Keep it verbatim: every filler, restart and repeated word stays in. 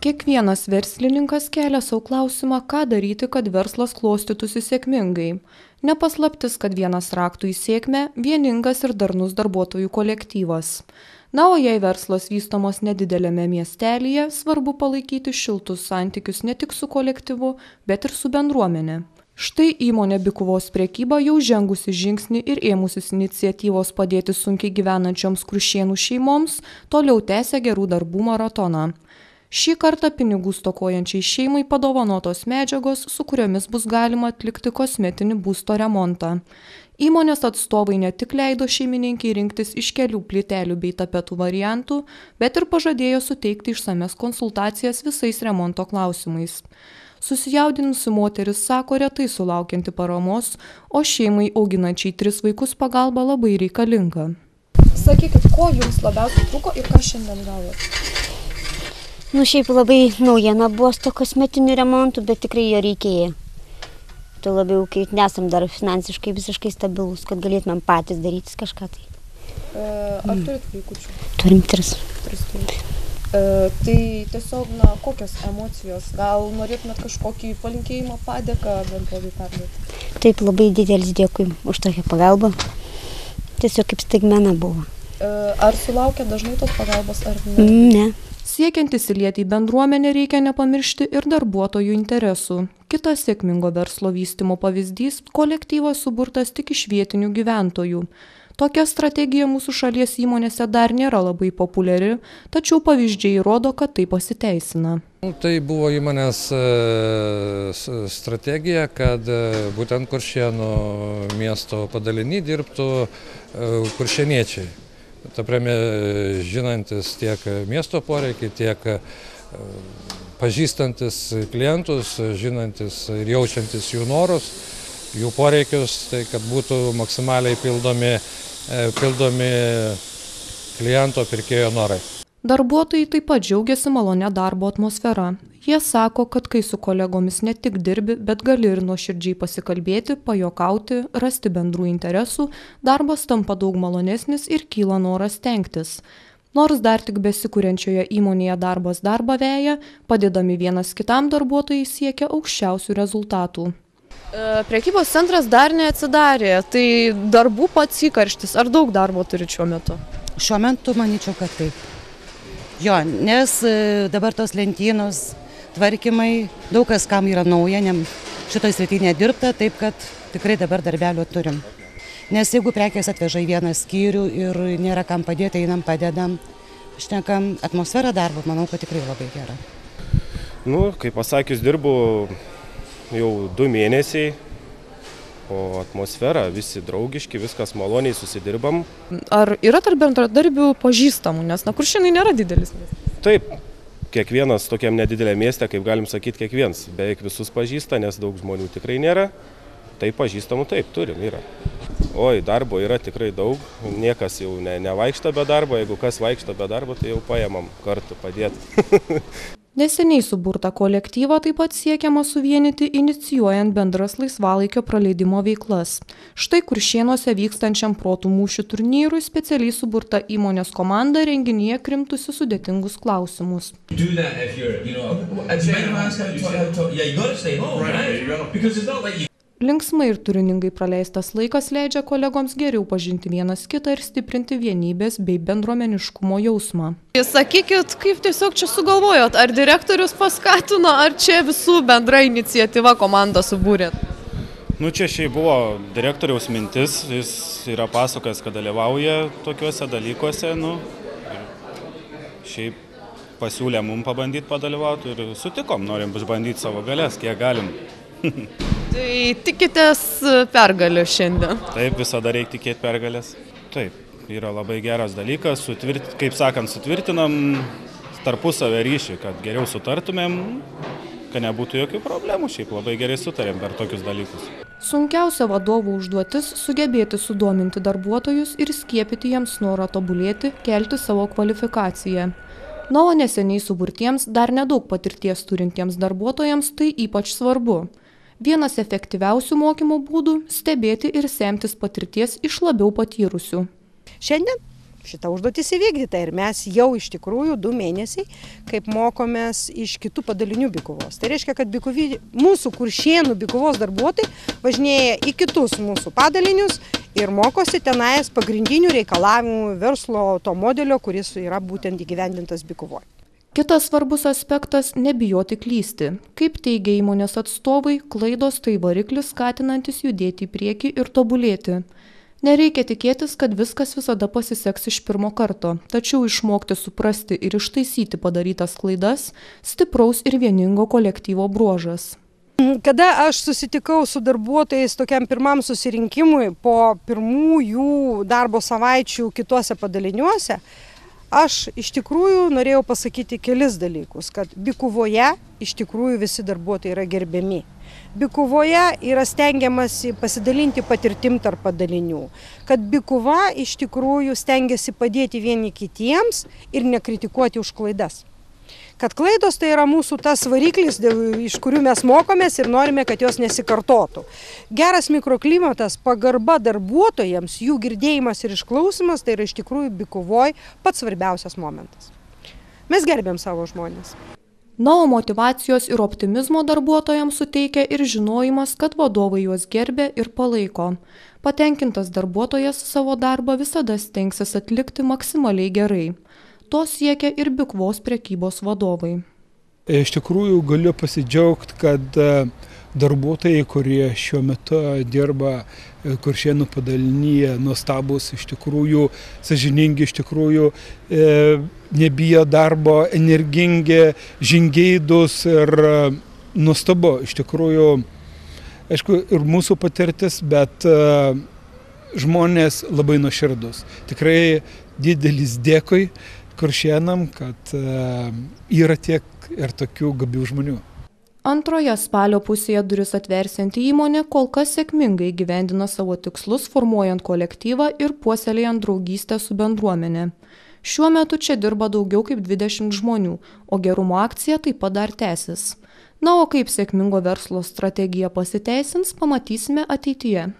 Kiekvienas verslininkas kelia savo klausimą, ką daryti, kad verslas klostytųsi sėkmingai. Nepaslaptis, kad vienas raktų į sėkmę – vieningas ir darnus darbuotojų kolektyvas. Na, o jei verslas vystomos nedidelėme miestelyje, svarbu palaikyti šiltus santykius ne tik su kolektyvu, bet ir su bendruomenė. Štai įmonė Bikuvos prekyba jau žengusi žingsnį ir ėmusis iniciatyvos padėti sunkiai gyvenančioms Krušėnų šeimoms, toliau tęsia gerų darbų maratoną. Šį kartą pinigų stokojančiai šeimai padovanotos medžiagos, su kuriomis bus galima atlikti kosmetinį būsto remontą. Įmonės atstovai ne tik leido šeimininkiai rinktis iš kelių plytelių bei tapetų variantų, bet ir pažadėjo suteikti išsames konsultacijas visais remonto klausimais. Susijaudinusi moteris sako retai sulaukianti paramos, o šeimai auginančiai tris vaikus pagalba labai reikalinga. Sakykit, ko jums labiausiai trūko ir ką šiandien gavote? Nu, šiaip labai naujiena buvo su to kosmetiniu remontu, bet tikrai jo reikėjo. Tai labiau, kai nesam dar finansiškai visiškai stabilus, kad galėtumėm patys daryti kažką tai. E, ar turit vaikučių? Turim tris. Tris turit. E, tai tiesiog, na, kokios emocijos? Gal norėtumėt kažkokį palinkėjimą, padėką bendrovei perduoti? Taip, labai didelis dėkui už tokią pagalbą. Tiesiog kaip staigmena buvo. E, ar sulaukia dažnai tos pagalbos, ar ne? Ne. Siekiant įsilieti į bendruomenę reikia nepamiršti ir darbuotojų interesų. Kitas sėkmingo verslo vystymo pavyzdys – kolektyvas suburtas tik iš vietinių gyventojų. Tokia strategija mūsų šalies įmonėse dar nėra labai populiari, tačiau pavyzdžiai rodo, kad tai pasiteisina. Tai buvo įmonės strategija, kad būtent Kuršėnų miesto padaliny dirbtų kuršėniečiai. Ta prasme, žinantis tiek miesto poreikį, tiek pažįstantis klientus, žinantis ir jaučiantis jų norus, jų poreikius, tai kad būtų maksimaliai pildomi, pildomi kliento pirkėjo norai. Darbuotojai taip pat džiaugiasi malonę darbo atmosfera. Jie sako, kad kai su kolegomis ne tik dirbi, bet gali ir nuoširdžiai pasikalbėti, pajokauti, rasti bendrų interesų, darbas tampa daug malonesnis ir kyla noras stengtis. Nors dar tik besikuriančioje įmonėje darbas darbą veja, padėdami vienas kitam darbuotojai siekia aukščiausių rezultatų. E, prekybos centras dar neatsidarė, tai darbų pats įkarštis. Ar daug darbo turi šiuo metu? Šiuo metu manyčiau, kad taip. Jo, nes dabar tos lentynos, tvarkymai, daug kas kam yra nauja, ne, šitoj srity nedirbta, taip kad tikrai dabar darbelio turim. Nes jeigu prekės atveža į vieną skyrių ir nėra kam padėti, einam padedam, šnekam, atmosfera darbo, manau, kad tikrai labai gera. Nu, kaip pasakius, dirbu jau du mėnesiai. O atmosfera, visi draugiški, viskas maloniai susidirbam. Ar yra tarp bendradarbių pažįstamų, nes na, Kuršėnai nėra didelis miestas? Taip, kiekvienas tokiam nedidelė mieste, kaip galim sakyti, kiekvienas. Beveik visus pažįsta, nes daug žmonių tikrai nėra. Tai pažįstamų taip, turim, yra. Oi, darbo yra tikrai daug, niekas jau ne, nevaikšto be darbo, jeigu kas vaikšto be darbo, tai jau paėmam kartu padėti. Neseniai suburtą kolektyvą taip pat siekiama suvienyti, inicijuojant bendras laisvalaikio praleidimo veiklas. Štai Kuršėnuose vykstančiam protų mūšių turnyrui specialiai suburta įmonės komanda renginyje krimtusi sudėtingus klausimus. Linksmai ir turiningai praleistas laikas leidžia kolegoms geriau pažinti vienas kitą ir stiprinti vienybės bei bendruomeniškumo jausmą. Sakykit, kaip tiesiog čia sugalvojot, ar direktorius paskatino, ar čia visų bendra iniciatyva komanda subūrėt? Nu, čia šiaip buvo direktoriaus mintis, jis yra pasakojęs, kad dalyvauja tokiuose dalykuose, nu, šiaip pasiūlė mum pabandyti padalyvauti ir sutikom, norim išbandyti savo galės, kiek galim. Tai tikitės pergalę šiandien? Taip, visada reikia tikėti pergalės. Taip, yra labai geras dalykas, sutvirt, kaip sakant, sutvirtinam tarpusavę ryšį, kad geriau sutartumėm, kad nebūtų jokių problemų, šiaip labai gerai sutarėm per tokius dalykus. Sunkiausia vadovų užduotis – sugebėti sudominti darbuotojus ir skiepyti jiems norą tobulėti, kelti savo kvalifikaciją. Na, o neseniai suburtiems, dar nedaug patirties turintiems darbuotojams tai ypač svarbu. Vienas efektyviausių mokymo būdų – stebėti ir semtis patirties iš labiau patyrusių. Šiandien šita užduotis įvykdyta ir mes jau iš tikrųjų du mėnesiai, kaip mokomės iš kitų padalinių Bykuvos. Tai reiškia, kad Bykuvy, mūsų Kuršėnų Bykuvos darbuotojai važinėja į kitus mūsų padalinius ir mokosi tenais pagrindinių reikalavimų verslo to modelio, kuris yra būtent įgyvendintas Bykuvoje. Kitas svarbus aspektas – nebijoti klysti. Kaip teigia įmonės atstovai, klaidos tai variklis skatinantis judėti į priekį ir tobulėti. Nereikia tikėtis, kad viskas visada pasiseks iš pirmo karto, tačiau išmokti suprasti ir ištaisyti padarytas klaidas – stipraus ir vieningo kolektyvo bruožas. Kada aš susitikau su darbuotojais tokiam pirmam susirinkimui po pirmųjų darbo savaičių kituose padaliniuose, aš iš tikrųjų norėjau pasakyti kelis dalykus, kad Bykuvoje iš tikrųjų visi darbuotojai yra gerbiami. Bykuvoje yra stengiamasi pasidalinti patirtim tarp padalinių, kad Bykuva iš tikrųjų stengiasi padėti vieni kitiems ir nekritikuoti už klaidas. Kad klaidos tai yra mūsų tas variklis, iš kurių mes mokomės ir norime, kad jos nesikartotų. Geras mikroklimatas, pagarba darbuotojams, jų girdėjimas ir išklausimas, tai yra iš tikrųjų Bykuvoje pats svarbiausias momentas. Mes gerbėm savo žmonės. Na, o motyvacijos ir optimizmo darbuotojams suteikia ir žinojimas, kad vadovai juos gerbia ir palaiko. Patenkintas darbuotojas savo darbą visada stengsis atlikti maksimaliai gerai. To siekia ir Bykuvos prekybos vadovai. Iš tikrųjų galiu pasidžiaugti, kad darbuotojai, kurie šiuo metu dirba Kuršėnų padalinyje, nuostabus, iš tikrųjų sąžiningi, iš tikrųjų e, nebijo darbo, energingi, žingeidus ir nuostabu. Iš tikrųjų, aišku, ir mūsų patirtis, bet e, žmonės labai nuoširdus. Tikrai didelis dėkui Kuršėnam, kad e, yra tiek ir tokių gabių žmonių. Antroje spalio pusėje duris atversianti įmonė kol kas sėkmingai gyvendina savo tikslus, formuojant kolektyvą ir puoselėjant draugystę su bendruomenė. Šiuo metu čia dirba daugiau kaip dvidešimt žmonių, o gerumo akcija taip pat dar tęsis. Na, o kaip sėkmingo verslo strategija pasiteisins, pamatysime ateityje.